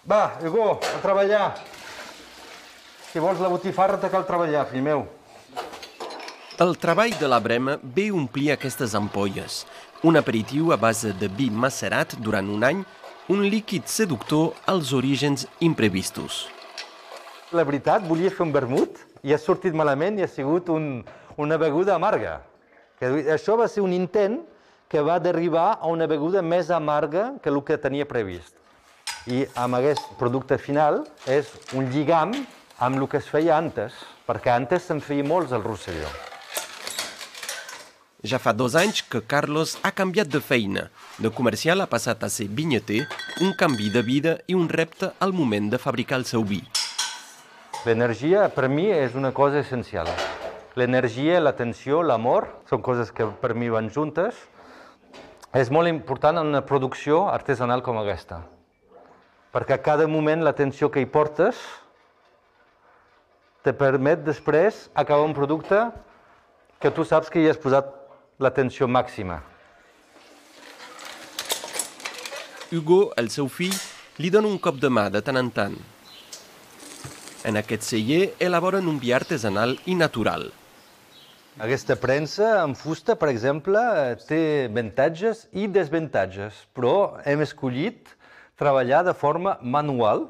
Va, Hugo, a treballar. Si vols la botifarra, te cal treballar, fill meu. El treball de la Brema ve omplir aquestes ampolles, un aperitiu a base de vi macerat durant un any, un líquid seductor als orígens imprevistos. La veritat, volia fer un vermut i ha sortit malament i ha sigut una beguda amarga. Això va ser un intent que va derivar a una beguda més amarga que el que tenia previst. I amb aquest producte final és un lligam amb el que es feia antes, perquè antes se'n feia molts al Rosselló. Ja fa 2 anys que Carlos ha canviat de feina. De comercial ha passat a ser vinyater, un canvi de vida i un repte al moment de fabricar el seu vi. L'energia, per mi, és una cosa essencial. L'energia, l'atenció, l'amor, són coses que per mi van juntes. És molt important en una producció artesanal com aquesta, perquè a cada moment l'atenció que hi portes te permet després acabar un producte que tu saps que hi has posat l'atenció màxima. Hugo, el seu fill, li dona un cop de mà de tant en tant. En aquest celler elaboren un vi artesanal i natural. Aquesta premsa en fusta, per exemple, té avantatges i desavantatges, però hem escollit treballar de forma manual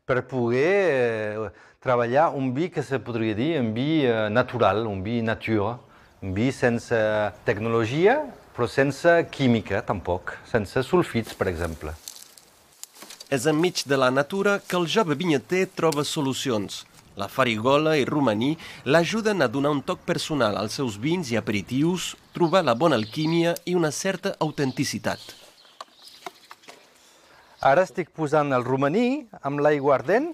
per poder treballar un vi que se podria dir un vi natural, un vi natura, un vi sense tecnologia, però sense química, tampoc, sense sulfits, per exemple. És enmig de la natura que el jove vinyater troba solucions. La farigola i romaní l'ajuden a donar un toc personal als seus vins i aperitius, trobar la bona alquímia i una certa autenticitat. Ara estic posant el romaní amb l'aigua ardent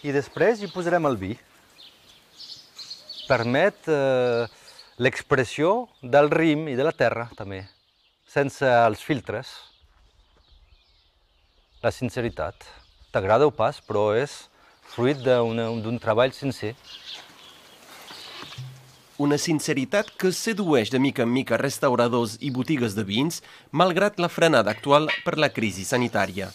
i després hi posarem el vi. Permet l'expressió del rim i de la terra, també, sense els filtres. La sinceritat. T'agrada o pas, però és fruit d'un treball sincer. Una sinceritat que sedueix de mica en mica restauradors i botigues de vins, malgrat la frenada actual per la crisi sanitària.